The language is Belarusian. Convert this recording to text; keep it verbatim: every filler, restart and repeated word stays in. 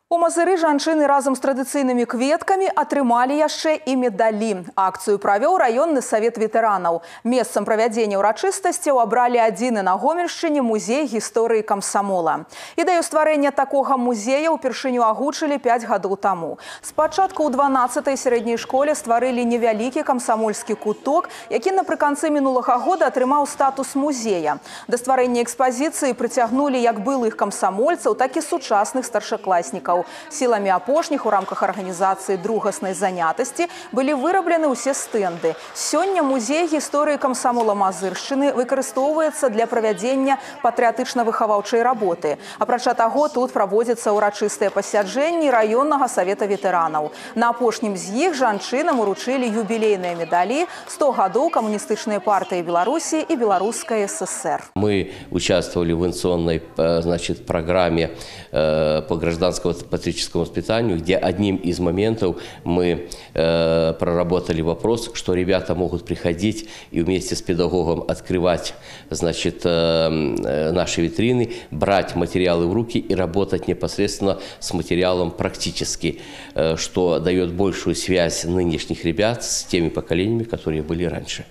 У Мазыры жанчыны разам з традыцыйнымі кветкамі атрымалі яшчэ і медалі. Акцыю правёў раённы савет ветэранаў. Месцам правядзення ўрачыстасцяў абралі адзіны на Гомельшчыне музей гісторыі камсамола. Ідэю стварэння такога музея ўпершыню агучылі пяць гадоў таму. Спачатку ў дванаццатай сярэдняй школе стварылі невялікі камсамольскі куток, які напрыканцы мінулага года атрымаў статус музея. Да стварэння экспазіцыі прыцягнулі як былых камсамольцаў, так і сучасных старшакласнікаў. Сіламі апошніх у рамках арганізацыі другаснай занятасці былі выраблены ўсе стэнды. Сёння музей гісторыі камсамола Мазыршчыны выкарыстоўваецца для правядзення патрыятычна-выхаваўчай работы. Апрача таго, тут праводзяцца ўрачыстыя пасяджэнні раённага савета ветэранаў. На апошнім з іх жанчынам уручылі юбілейныя медалі сто гадоў камуністычнай партыі Беларусі и Белорусской ССР. Мы участвовали в инновационной, значит, программе по гражданскому патриотическому воспитанию, где одним из моментов мы э, проработали вопрос, что ребята могут приходить и вместе с педагогом открывать, значит, э, наши витрины, брать материалы в руки и работать непосредственно с материалом практически, э, что дает большую связь нынешних ребят с теми поколениями, которые были раньше.